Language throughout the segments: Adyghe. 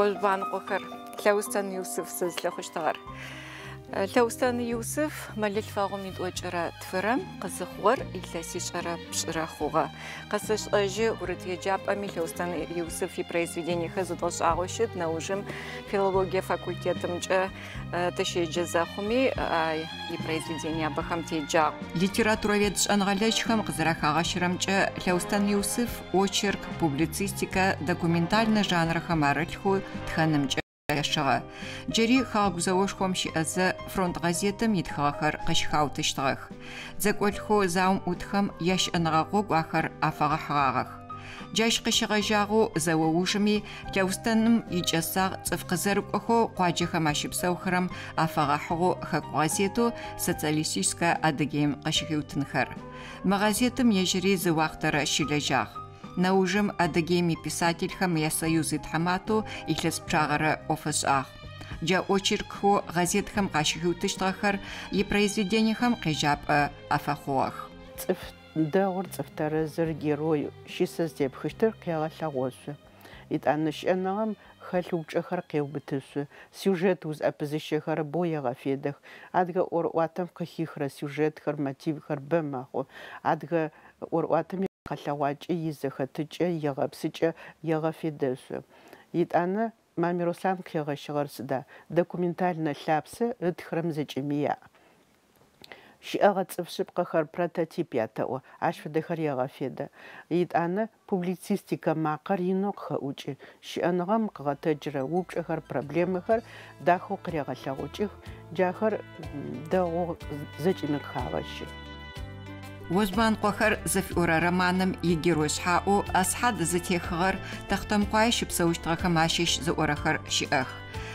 Ожъубаныкъохэр, Лъэустэн Юсыф сызлъыхъущтыгъэр. Лъэустэн Юсыф мэлылъфэгъум итӏокӏырэ тфырэм къызыхъугъэр илъэсишъэрэ пшӏырэ хъугъэ. Къэсэшӏэжьы гурыт еджапӏэми Лъэустэн Юсыф ипроизведениехэр зэдгъэшӏагъэу щыт, нэужым филологие факультетымкӏэ тыщеджэ зэхъуми ипроизведениябэхэм теджагъ. Литературовед шӏэныгъэлэжьхэм къызэрэхагъэщырэмкӏэ, Лъэустэн Юсыф очерк, публицистикэ, документальнэ жанрэхэм арылъхэу тхэнымкӏэ лъэшыгъэ. Джыри Хэгъэгу зэошхом щыӏэзэ фронт гъэзетым итхыгъэхэр къыщыхаутыщтыгъэх. Дзэкӏолӏхэу заом ӏутхэм ящыӏэныгъэ гъогу ахэр афэгъэхьыгъагъэх. Джащ къыщегъэжьагъэу зэо ужыми Лъэустэным икӏэсагъ цӏыф къызэрыкӏохэу къуаджэхэм ащыпсэухэрэм афэгъэхьыгъэу хэку гъэзетэу Социалистическэ Адыгеим къыщыхиутынхэр. Мы гъэзетым ежьыри зы уахътэрэ щылэжьагъ. Нэужым Адыгеим иписательхэм я Союз итхьаматэу илъэс пчъагъэрэ ӏоф ышӏагъ. Джа очеркхэу гъэзетхэм къащыхиутыщтыгъэхэр ипроизведениехэм къежьапӏэ афэхъугъэх. Цӏыф дэгъур, цӏыф тэрэзыр, герой, щысэ зытепхыщтыр къегъэлъэгъошъу. Етӏанэ щыӏэныгъэм хэлъ упчӏэхэр къеубытышъу, сюжет узӏэпызыщэхэр бэу егъэфедэх. Адыгэ ӏорыӏуатэм къыхихырэ сюжетхэр, мотивхэр бэ мэхъу. Адыгэ ӏорыӏуатэм икъэлъэгъуакӏэ, изэхэтыкӏэ, игъэпсыкӏэ егъэфедэшъу. Етӏанэ Мамый Руслъан къыхигъэщыгъэр сыда? Документальнэ лъапсэ ытхырэм зэкӏэми яӏ. Щыӏэгъэ цӏыф шъыпкъэхэр прототип ятэӏо, ащ фэдэхэр егъэфедэ. Етӏанэ публицистикэ макъэр инэу къыхэӏукӏы, щыӏэныгъэм къыгъэтэджырэ упчӏэхэр, проблемэхэр дахэу къырегъэлъэгъукӏых, джахэр дэгъоу зэкӏэми къыхагъэщы. Ожъубаныкъохэр зыфиӏорэ романым игерой шъхьаӏэу Асхьад зытехыгъэр Тэхъутэмыкъуае щыпсэущтыгъэхэм ащыщ зыӏорэхэр щыӏэх.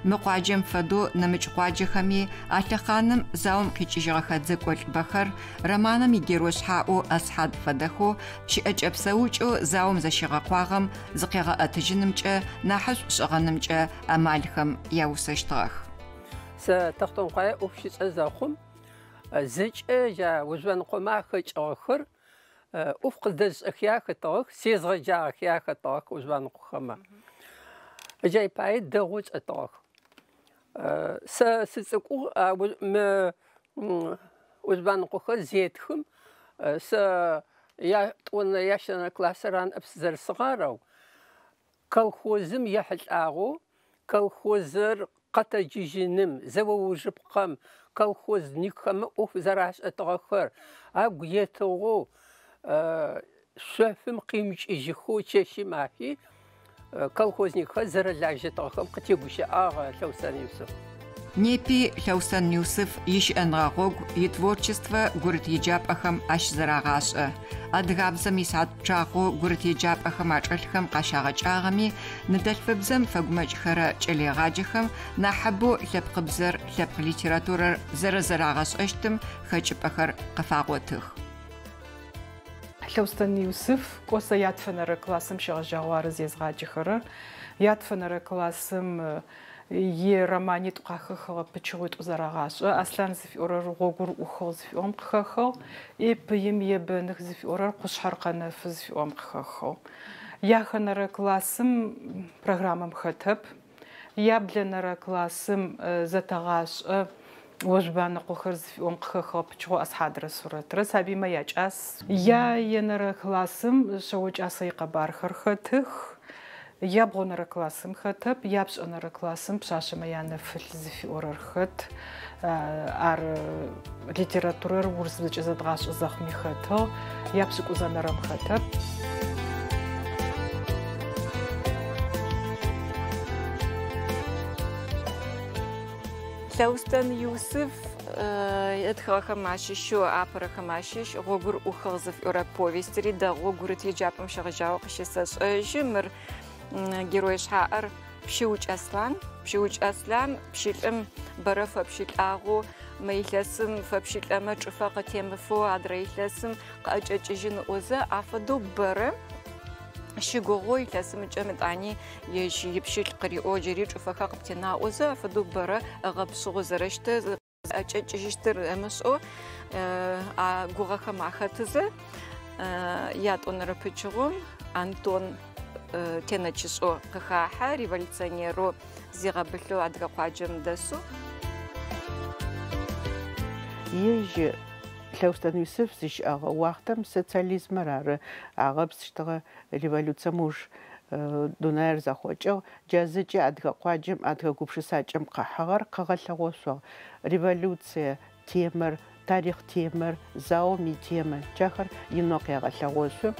Мы къуаджэм фэдэу нэмыкӏ къуаджэхэми а лъэхъаным заом къикӏыжьыгъэхэ дзэкӏолӏбэхэр романым игерой шъхьаӏэу Асхьад фэдэхэу щыӏэкӏэ-псэукӏэу заом зэщигъэкъуагъэм зыкъегъэӏэтыжьынымкӏэ, нахьышӏу шӏыгъэнымкӏэ амалхэм яусэщтыгъэх. Сэ Тэхъутэмыкъуае ӏоф щысшӏэ зэхъум, зэкӏэ джа Ожъубаныкъомэ ахэкӏыгъэхэр ӏоф къыздэзышӏэхи ахэтыгъэх, сезгъэджагъэхи ахэтыгъэх Ожъубаныкъохэмэ. Джай пае дэгъоу чӏэтыгъэх. Сэ сыцӏыкӏугъ, мы Ожъубаныкъохэр зетхым, сэ ятӏонэрэ, ящэнэрэ классыр ары ныӏэп сызэрысыгъэр, ау колхозым ехьылӏагъэу Колхозыр къэтэджыжьыным, зэо ужыпкъэм колхозникхэм ӏоф зэрашӏэтыгъэхэр агу етыгъэу, шъофым къимыкӏыжьыхэу чэщи мафи колхозникхэр зэрэлажьэтыгъэхэм къытегущыӏагъ Лъэустэн Юсыф. Непи Лъэустэн Юсыф ищыӏэныгъэ гъогу, итворчествэ гурыт еджапӏэхэм ащызэрагъашӏэ. Адыгабзэм исыхьат пчъагъэу гурыт еджапӏэхэм ачӏэлъхэм къащагъэкӏагъэми, ныдэлъфыбзэм фэгумэкӏхэрэ кӏэлэегъаджэхэм нахьыбэу лъэпкъыбзэр, лъэпкъ литературэр зэрэзэрагъэшӏэщтым хэкӏыпӏэхэр къыфагъотых. Лъэустэн Юсыф кӏо сэ ятфэнэрэ классым щегъэжьагъэу ары зезгъаджэхэрэр. Ятфэнэрэ классым ироманитӏу къахэхыгъэ пычыгъуитӏу зэрагъашӏэ. Аслъан зыфиӏорэр Гъогур ӏухыгъ зыфиӏорэм къыхэхыгъ, е Пыим ебэных зыфиӏорэр Къушъхьэр къэнэфы зыфиӏорэм къыхэхыгъ. Яхэнэрэ классым программэм хэтэп. Яблэнэрэ классым зэтэгъашӏэ Ожъубаныкъохэр зыфиӏорэм къыхэхыгъэ пычыгъо Асхьадрэ Сурэтрэ сабыймэ якӏас. Яенэрэ классым Шъэокӏасэ икъэбархэр хэтых. Ябгъонэрэ классым хэтэп, япшӏэнэрэ классым Пшъашъэмэ янэфылъ зыфиӏорэр хэт. Ар литературэр урысыбзэкӏэ зэдгъашӏэ зэхъуми хэтыгъ, япшӏыкӏузэнэрэм хэтэп. Лъэустэн Юсыф ытхыгъэхэм ащыщэу апэрэхэм ащыщ Гъогур ӏухыгъ зыфиӏорэ повестыри дэгъоу гурыт еджапӏэм щегъэжьагъэу къыщысэшӏэжьы. Мыр герой шъхьаӏэр Пщыукӏ Аслъан. Пщыукӏ Аслъан пщылӏым бэрэ фэпщылӏагъэу, мы илъэсым фэпщылӏэмэ чӏыфэ къытемыфэу, адрэ илъэсым къыӏэкӏэкӏыжьын ыӏозэ, афэдэу бэрэ щыгугъэу илъэсым ыкӏэм етӏани ежь ипщылӏ къыриӏоу джыри чӏыфэхэр къыптена ыӏозэ, афэдэу бэрэ ыгъэпшъыгъэу зэрэщытыр, ӏэкӏэкӏыжьыщтыр ымышӏэу а гугъэхэм ахэтызэ, ятӏонэрэ пычыгъом Антон тенэчышӏэу къыхахьэ, революционерэу зигъэбылъэу адыгэ къуаджэм дэсэу. Ежь Лъэустэн Юсыф зыщыӏэгъэ уахътэм социализмэр ары агъэпсыщтыгъэ, революцием ыуж дунаир зэхъокӏыгъ. Джа зэкӏэ адыгэ къуаджэм, адыгэ гупшысакӏэм къыхьыгъэр къыгъэлъэгъошъугъ. Революцие темэр, тарихъ темэр, заом итемэ, джахэр инэу къегъэлъэгъошъу.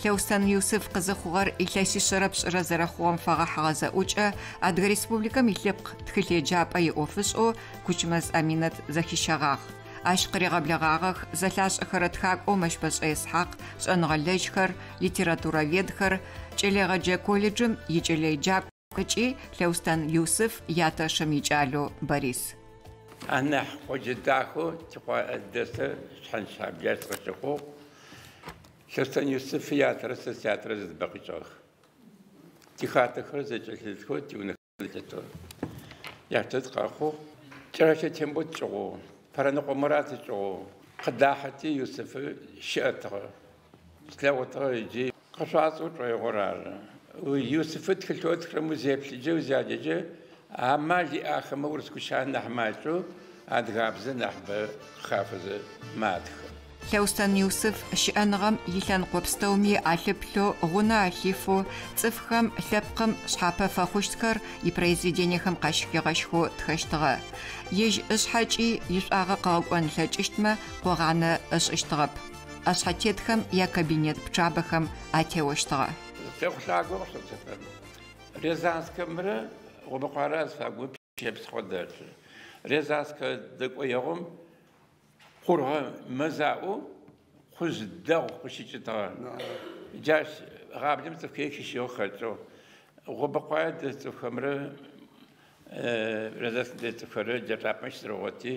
Лъэустэн Юсыф къызыхъугъэр илъэсишъэрэ пшӏырэ зэрэхъугъэм фэгъэхьыгъэ зэӏукӏэ Адыгэ Республикэм илъэпкъ тхылъеджапӏэ иӏофышӏэу Кучмэз Аминэт зэхищэгъагъ. Ащ къыригъэблэгъагъэх зэлъашӏэхэрэ тхакӏоу Мэщбэшӏэ Исхьакъ, шӏэныгъэлэжьхэр, литературоведхэр, кӏэлэегъэджэ колледжым икӏэлэеджакӏо ыкӏи Лъэустэн Юсыф ятэшым икӏалэу Борис. Анахь къоджэ дахэу дэсыр Шъхьэнщаблэ сыкъыщыхъугъ. Лъэустэн Юсыф ятэрэ сэ сятэрэ зэдыбэ къикӏыгъэх. Тихатэхэр зэкӏэлъытхэу, тиунэхэр зэкӏэлъытхэу. Ятэт къэхъугъ. Кӏэрэщэ Тембот кӏыгъоу, Пэрэныкъо Мурат кӏыгъоу, къыдахьэти Юсыфы щыӏэтыгъэ. Слъэгъутыгъэ иджы къышъуацӏэу шӏоигъор ары. Юсыфы тхылъэу ытхырэм узеплъыджэ, узяджэджэ, амал иӏахэмэ урыс гущыӏэ нахь макӏэу, адыгабзэ нахьыбэ къыхафэзэ матхэ. Лъэустэн Юсыф щыӏэныгъэм илъэныкъо пстэуми алъыплъэу, гъунэ алъифэу, цӏыфхэм, лъэпкъым шъхьапэ фэхъущтхэр ипроизведениехэм къащыхигъэщхэу тхэщтыгъэ. Ежь ышъхьэкӏи ишӏуагъэ къыгъэкӏон ылъэкӏыщтмэ къогъанэ ышӏыщтыгъэп. ӏэшъхьэтетхэм якабинет пчъабэхэм атеощтыгъэ. Техъулъаго къыщыцэфэм. Рязанскэмрэ Гъобэкъуарэ азыфагу пщэпсхъо дэлъы. Рязанскэ дэкӏоегъум къургъэ мэзаӏоу къужъ дэгъу къыщыкӏытыгъэ. Джащ гъаблэм цӏыфхэр хищыгъ хэкӏыгъ. Гъобэкъуае дэс цӏыфхэмрэ Рязанскэ дэс цӏыфхэрэ джа чӏапӏэм щызэрэгъоти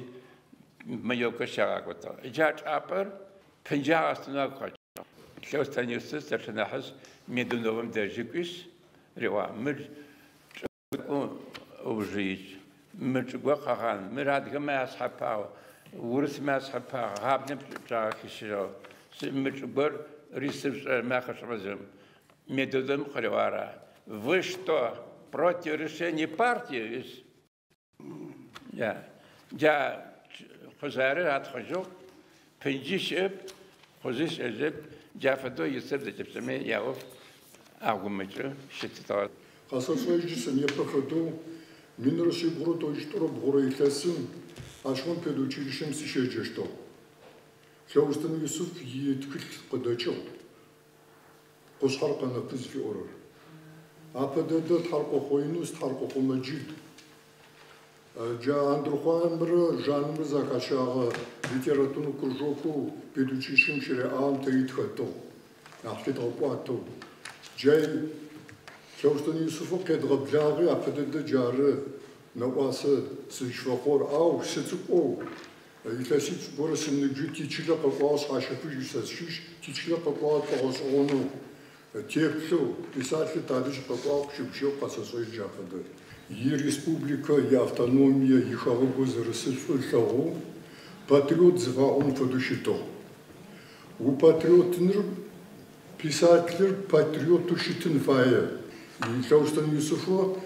маёвкэ щагъакӏотыгъ. Джа чӏапӏэр пынджагъ астынэу агу къэкӏыгъ. Лъэустэн Юсыф старшэ нахьыжъ Медуновым дэжьы кӏуишъ, риӏуагъ: мыр чӏыгу ыужы икӏ, мыр чӏыгу къэгъан, мыр адыгэмэ яшъхьэпагъ, урысмэ яшъхьэпагъ, гъаблэм пчъагъэ хищыгъ. Мыр чӏыгур рисыпшӏэ махэшӏыгъэ Медуновым къыриӏуагъ: Вы что, против решения партии? Джа къужъарыр атхъыжьыгъ, пынджи щыӏэп, къужъи щыӏэжьэп. Джа фэдэу Юсыф зэкӏэпкӏэми яӏоф агумыкӏэу щытытыгъэ. Къэсэшӏэжьы сэ непэ фэдэу 1992 илъэсым ащыгъум педучилищэм сыщеджэщтыгъ. Лъэустэн Юсыф итхылъ къыдэкӏыгъ. Къушъхьэр къэнэфы зыфиӏорэр. Апэ дэдэ Тхьаркъохъо Инус, Тхьаркъохъо Мэджид. Джа Андрыхъуаемрэ Жанымрэ зэхащагъэ литературнэ кружокэу педучилищэм щыреӏагъэм тэри тхэтыгъ. Нахь лъыдгъэкӏуатэу. Джай Лъэустэн Юсыфы къедгъэблагъи апэ дэдэ джары нэӏуасэ сызщыфэхъугъэр. Ау сыцӏыкӏоу илъэсипшӏ горэ сыныбжьи тичылэ къэкӏуагъ, Шъхьащэфыжь сэ сщыщ, тичылэ къэкӏуагъ тфэгъэшӏэгъонэу. Теплъэу, писатель тадэжь къэкӏуагъ, къыщыгущыӏэу къэсэшӏэжь джа фэдэ. Иреспубликэ, иавтономие, ихэгъэгу зэрысыр шӏу ылъэгъоу патриот зыфаӏом фэдэу щытыгъ. Упатриотыныр писателыр патриотэу щытын фае. Лъэустэн Юсыфы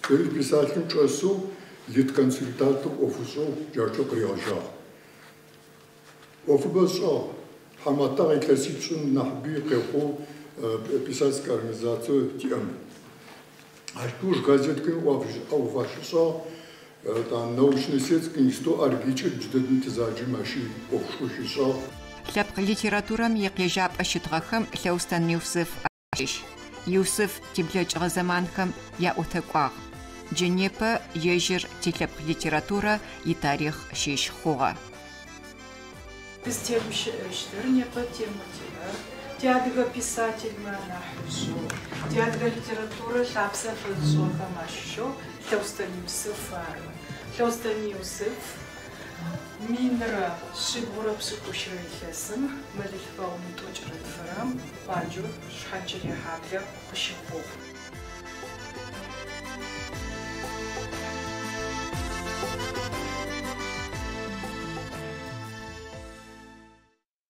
тэри писателым чӏэсэу литконсультантэу ӏоф ышӏэу джарчэу къыригъэжьагъ. ӏофыбэ ышӏагъ. Тхьаматагъ илъэсипшӏым нахьыби къехъоу писательскэ организацие тиӏэм. Ащ ыуж газетхэми ӏоф ащишӏагъ. Научно-исследовательский институт АРГИКӏэ джыдэдэм тызаджэм ащи ӏофышхо щишӏагъ. Лъэпкъ литературэм икъежьапӏэ щытыгъэхэм Лъэустэн Юсыф ащыщ. Юсыф тиблэкӏыгъэ зэманхэм яӏотэкӏуагъ. Джы непэ ежьыр тилъэпкъ литературэ итарихъ щыщ хъугъэ. Тызтегущыӏэщтыр непэ темэ тиӏэр тиадыгэ писательмэ анахьыжъэу, тиадыгэ литературэ лъапсэ фэзышӏыгъэхэм ащыщэу Лъэустэн Юсыф ары. Лъэустэн Юсыф 1170 илъэсым мэлылъфэгъум итӏокӏырэ тфырэм къуаджэу Шъхьанчэрыехьаблэ къыщыхъугъ.